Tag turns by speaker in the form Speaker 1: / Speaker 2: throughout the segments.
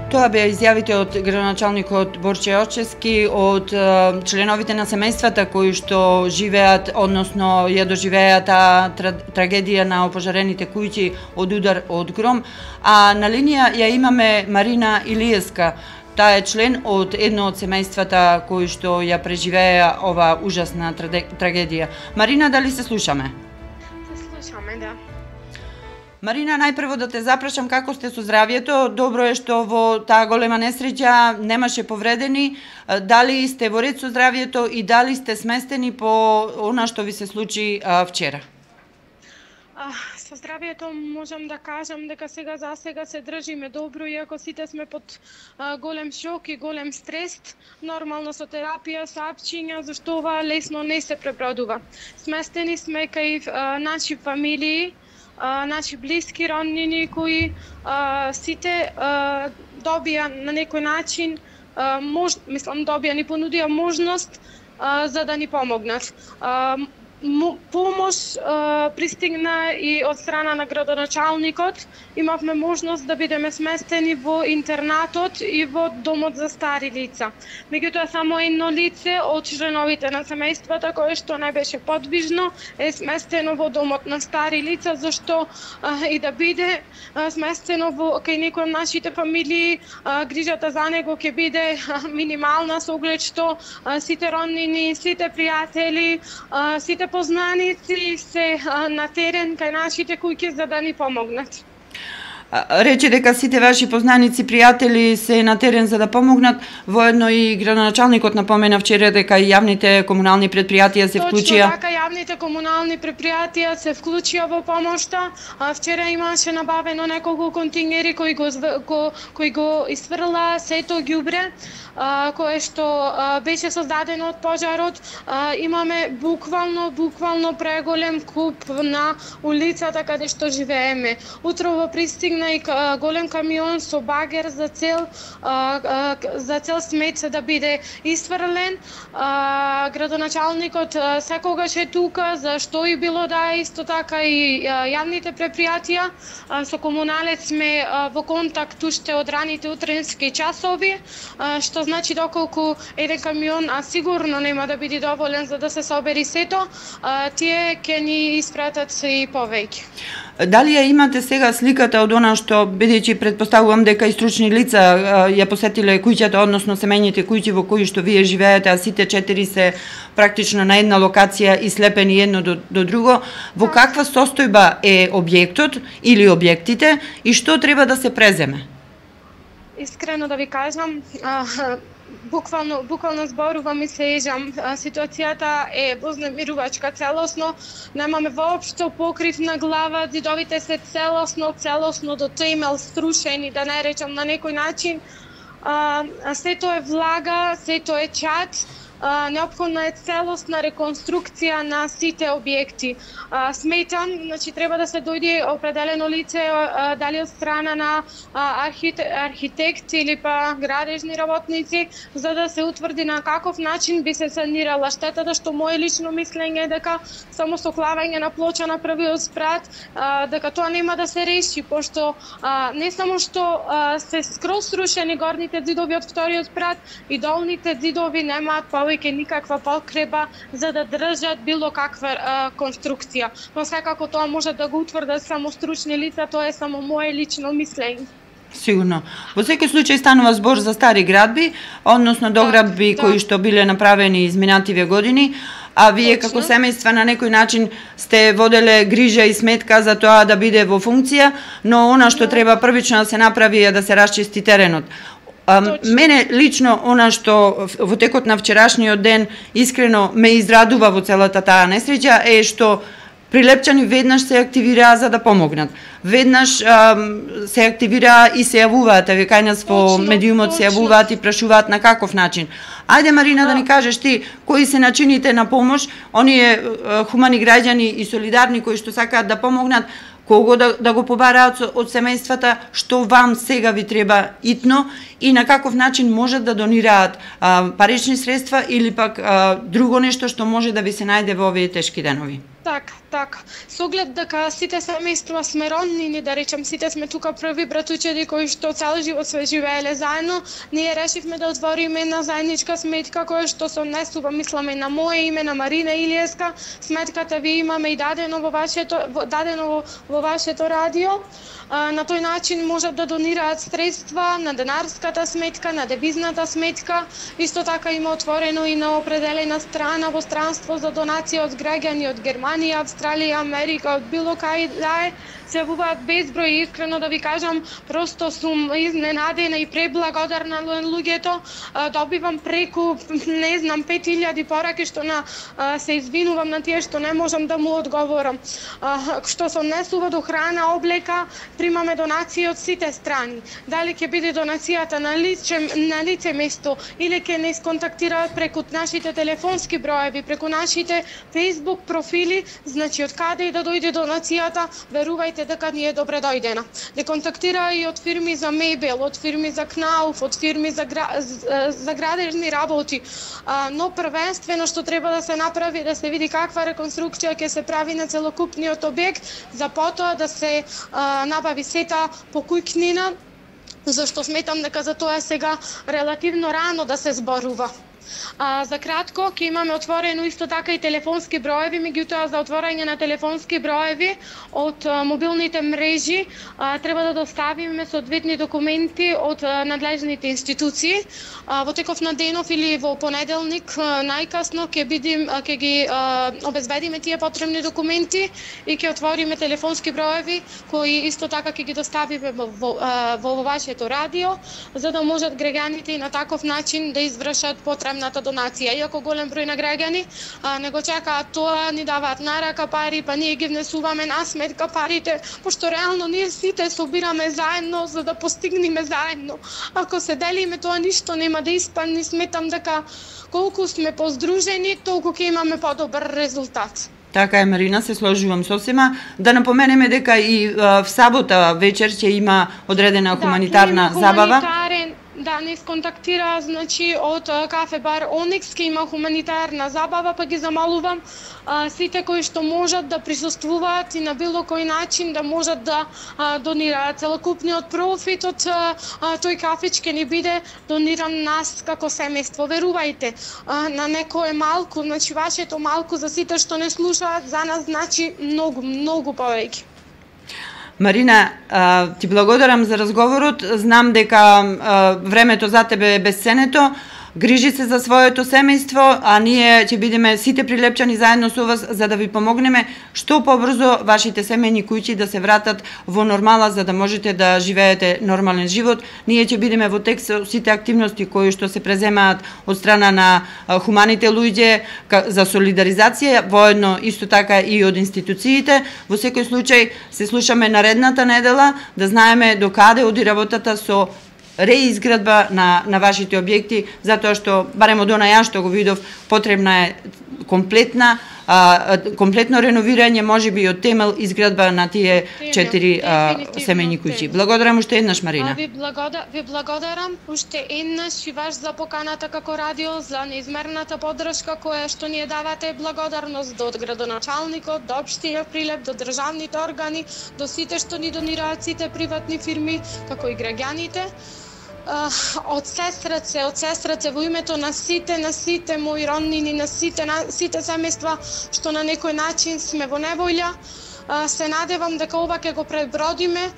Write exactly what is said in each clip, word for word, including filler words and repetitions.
Speaker 1: Тоа беа изјавите од градоначалникот Борче Очески, од членовите на семејствата кои што живеат, односно ја доживеа таа трагедија на опожарените куќи од удар од гром. А на линија ја имаме Марина Илиевска. Таа е член од едно од семејствата кои што ја преживеа ова ужасна трагедија. Марина, дали се слушаме?
Speaker 2: Се слушаме, да.
Speaker 1: Марина, најпрво да те запрашам како сте со здравјето. Добро е што во таа голема несреќа немаше повредени. Дали сте во ред со здравјето и дали сте сместени по она што ви се случи а, вчера?
Speaker 2: А, со здравјето можам да кажам дека сега за сега се држиме добро, иако сите сме под а, голем шок и голем стрес. Нормално со терапија, со апчиња, зашто ова лесно не се пребродува. Сместени сме кај а, наши фамилии, Uh, наши блиски роднини кои uh, сите uh, добија на некој начин, uh, мож, мислам добија, ни понудија можност uh, за да ни помогнат. Uh, Помош uh, пристигна и од страна на градоначалникот. Имавме можност да бидеме сместени во интернатот и во домот за стари лица. Меѓутоа само едно лице од членовите на семејствата кое што не беше подвижно е сместено во домот на стари лица, зашто uh, и да биде uh, сместено во кај некој од нашите фамилии, uh, грижата за него ќе биде uh, минимална со оглед што uh, сите роднини, сите пријатели, uh, сите познаници се на терен кај нашите куќи за да ни помогнат.
Speaker 1: Рече дека сите ваши познаници, пријатели се на терен за да помогнат. Воедно и градоначалникот напомена вчера дека и јавните комунални предпријатија се вклучија.
Speaker 2: Точно така, јавните комунални предпријатија се вклучија во помошта. Вчера имаше набавено неколку контингери кои го ко, кои го исфрла сето ѓубре кое што беше создадено од пожарот. Имаме буквално буквално преголем куп на улицата каде што живееме. Утрово пристигна и голем камион со багер за цел за цел смет да биде исфрлен. Градоначалникот секогаш е тука за што и било да е, исто така и јавните предпријатија. Со комуналец сме во контакт уште од раните утренски часови, што значи доколку еден камион а сигурно нема да биде доволен за да се собери сето, тие ќе ни испратат и повеќе.
Speaker 1: Дали ја имате сега сликата од она што, бидејќи претпоставувам дека и стручни лица ја посетиле куќата, односно семејните куќи во кои што вие живеете, а сите четири се практично на една локација и слепени едно до, до друго, во каква состојба е објектот или објектите и што треба да се преземе?
Speaker 2: Искрено да ви кажам, буквално буквално зборувам и се ежам. Ситуацијата е вознемирувачка целосно. Немаме воопшто покрив на глава, зидовите се целосно, целосно до темел струшени, да не речам на некој начин. А, сето е влага, сето е чад. Uh, неопходна е целосна реконструкција на сите објекти. Uh, сметам, значи треба да се дојде определено лице, uh, дали од страна на uh, архите, архитект или па градежни работници, за да се утврди на каков начин би се санирала штетата, што мое лично мислење е дека само со клавање на плоча на првиот спрат, uh, дека тоа нема да се реши, пошто uh, не само што uh, се скроз срушени горните зидови од вториот спрат, и долните зидови немаат повеќе никаква покреба за да држат било каква а, конструкција. Но секако тоа може да го утврдат само стручни лица, тоа е само мое лично мислење.
Speaker 1: Сигурно. Во секој случај станува збор за стари градби, односно доградби да, кои да. што биле направени изминативе години, а вие Точно. како семејства на некој начин сте воделе грижа и сметка за тоа да биде во функција, но она што да. треба првично да се направи е да се расчисти теренот. А, мене лично она што во текот на вчерашниот ден искрено ме израдува во целата таа несреќа е што Прилепчани веднаш се активираа за да помогнат. Веднаш а, се активираа и се јавуваат, еве кај нас во медиумот се јавуваат и прашуваат на каков начин. Ајде Марина да ни кажеш ти кои се начините на помош, оние а, хумани граѓани и солидарни кои што сакаат да помогнат, кого да, да го побараат од семејствата, што вам сега ви треба итно и на каков начин можат да донираат а, парични средства или пак а, друго нешто што може да ви се најде во овие тешки денови.
Speaker 2: Така, така. Со оглед дека сите семејства сме роднини, да речем, сите сме тука први братучеди кои што цел живот све живееле заедно, ние решивме да отвориме една заедничка сметка која што се однесува, мисламе, на моје име, на Марина Илиевска. Сметката ви имаме и дадено во вашето дадено во, во вашето радио. На тој начин можат да донираат средства на денарската сметка, на девизната сметка. Исто така има отворено и на определена страна во странство за донација од граѓани од Германија, Австралија, Америка, од било кај да е. Се јавуваат безброј, искрено да ви кажам, просто сум изненадена и преблагодарна на луѓето. Добивам преку, не знам, пет илјади пораки, што на се извинувам на тие што не можам да му одговорам. Што се однесува до храна, облека, примаме донации од сите страни. Дали ќе биде донацијата на лице, на лице место или ќе не сконтактираат преку нашите телефонски броеви, преку нашите Facebook профили, значи од каде и да дојде донацијата, верувајте дека ни е добре дојдена. Де контактира и од фирми за мебел, од фирми за кнауф, од фирми за, гра... за градежни работи. А, но првенствено што треба да се направи, да се види каква реконструкција ќе се прави на целокупниот објект, за потоа да се а, набави сета покујкнина, зашто сметам дека за тоа сега релативно рано да се зборува. А, за кратко, ќе имаме отворено исто така и телефонски броеви, меѓутоа за отворање на телефонски броеви од а, мобилните мрежи а, треба да доставиме соодветни документи од а, надлежните институции. А, во теков на денов или во понеделник а, најкасно ќе бидим ќе ги а, обезбедиме тие потребни документи и ќе отвориме телефонски броеви кои исто така ќе ги доставиме во, во, во, во вашето радио, за да можат граѓаните и на таков начин да извршат потребната донација. Иако голем број на граѓани а, не го чекаат тоа, ни даваат на рака пари, па ние ги внесуваме на сметка парите, пошто реално ние сите собираме заедно за да постигнеме заедно. Ако се делиме, тоа ништо нема да испадне. Сметам дека колку сме поздружени, толку ќе имаме подобар резултат.
Speaker 1: Така е, Марина, се сложувам сосема. Да напоменеме дека и а, в сабота вечер ќе има одредена хуманитарна
Speaker 2: да,
Speaker 1: забава.
Speaker 2: Да, не сконтактира, значи, од кафе бар Оникс, ке има хуманитарна забава, па ги замалувам а, сите кои што можат да присуствуваат и на било кој начин да можат да а, донираат. Целокупниот профит од а, тој кафеч ке ни биде дониран нас како семејство. Верувајте, а, на некое малку, значи вашето малку за сите што не слушаат, за нас значи многу, многу повеќе.
Speaker 1: Марина, ти благодарам за разговорот. Знам дека времето за тебе е бесценето. Грижи се за своето семејство, а ние ќе бидеме сите прилепчани заедно со вас за да ви помогнеме што побрзо вашите семејни куќи да се вратат во нормала за да можете да живеете нормален живот. Ние ќе бидеме во текст со сите активности кои што се преземаат од страна на хуманите луѓе за солидаризација, воедно исто така и од институциите. Во секој случај се слушаме наредната недела, да знаеме до каде оди работата со реизградба на, на вашите објекти, затоа што, барем од она ја што го видов, потребна е комплетна, а, комплетно реновирање, може би од темел изградба на тие четири семејни куќи. Благодарам уште еднаш, Марина.
Speaker 2: А, ви, благода, ви благодарам уште еднаш и ваш за поканата како радио, за неизмерната поддршка која што ни ја давате. Благодарност до градоначалникот, до општина Прилеп, до државните органи, до сите што ни донираат, сите приватни фирми, како и граѓаните. Uh, од се срце, од се срце во името на сите, на сите мои роднини, на сите, на сите семејства што на некој начин сме во неволја, uh, се надевам дека ова ќе го пребродиме.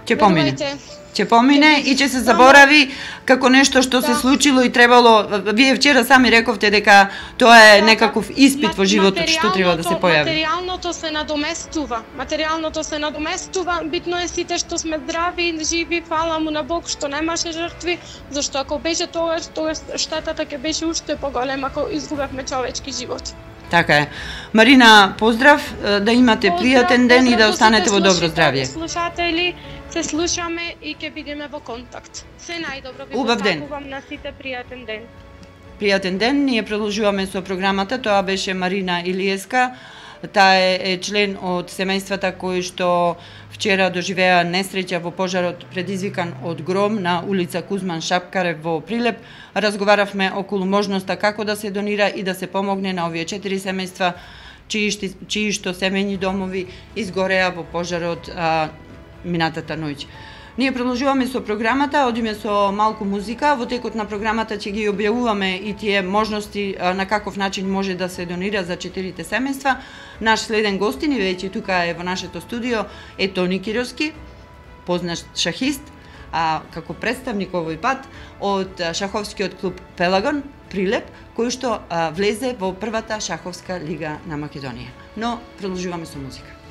Speaker 1: Ќе uh, помине. Ќе помине и ќе се заборави како нешто што да. се случило и требало. Вие вчера сами рековте дека тоа е да, некаков испит во животот што треба да се појави.
Speaker 2: Материјалното се надоместува. Материјалното се надоместува. Битно е сите што сме здрави и живи, фала му на Бог што немаше жртви, зашто ако беше тоа, тоа штетата ќе беше уште поголема ако изгубевме човечки живот.
Speaker 1: Така е. Марина, поздрав, да имате поздрав, пријатен ден и да останете во добро здравје.
Speaker 2: Слушатели, се слушаме и ќе бидеме во контакт. Се најдобро ви посакувам на сите пријатен ден.
Speaker 1: Пријатен ден, ние продолжуваме со програмата, тоа беше Марина Илиевска, Таа е член од семејствата кои што вчера доживеа несреќа во пожарот предизвикан од гром на улица Кузман Шапкарев во Прилеп. Разговаравме околу можноста како да се донира и да се помогне на овие четири семејства чии, чии што семејни домови изгореа во пожарот а, минатата ноќ. Ние продолжуваме со програмата, одиме со малку музика. Во текот на програмата ќе ги објавуваме и тие можности на каков начин може да се донира за четирите семејства. Наш следен гостин и веќе тука е во нашето студио е Тони Кировски, познат шахист, а како представник овој пат од шаховскиот клуб Пелагон Прилеп, кој што а, влезе во првата шаховска лига на Македонија. Но продолжуваме со музика.